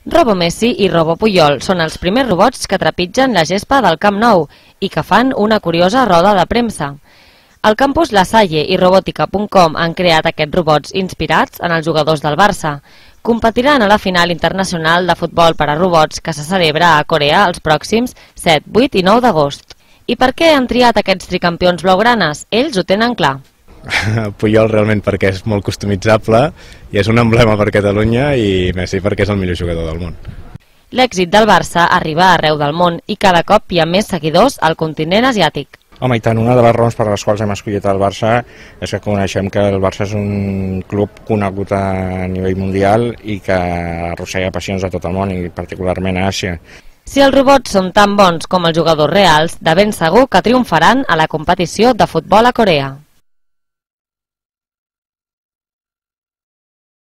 Robo Messi i Robo Puyol són els primers robots que trepitgen la gespa del Camp Nou i que fan una curiosa roda de premsa. El campus La Salle i Robòtica.com han creat aquests robots inspirats en els jugadors del Barça. Competiran a la final internacional de futbol per a robots que se celebra a Corea els pròxims 7, 8 i 9 d'agost. I per què han triat aquests tricampions blaugranes? Ells ho tenen clar. Puyol realment perquè és molt customitzable i és un emblema per Catalunya, i Messi perquè és el millor jugador del món. L'èxit del Barça arriba arreu del món i cada cop hi ha més seguidors al continent asiàtic. Home, i tant, una de les raons per les quals hem escollit el Barça és que coneixem que el Barça és un club conegut a nivell mundial i que arrossega passions a tot el món i particularment a Àsia. Si els robots són tan bons com els jugadors reals, de ben segur que triomfaran a la competició de futbol a Corea.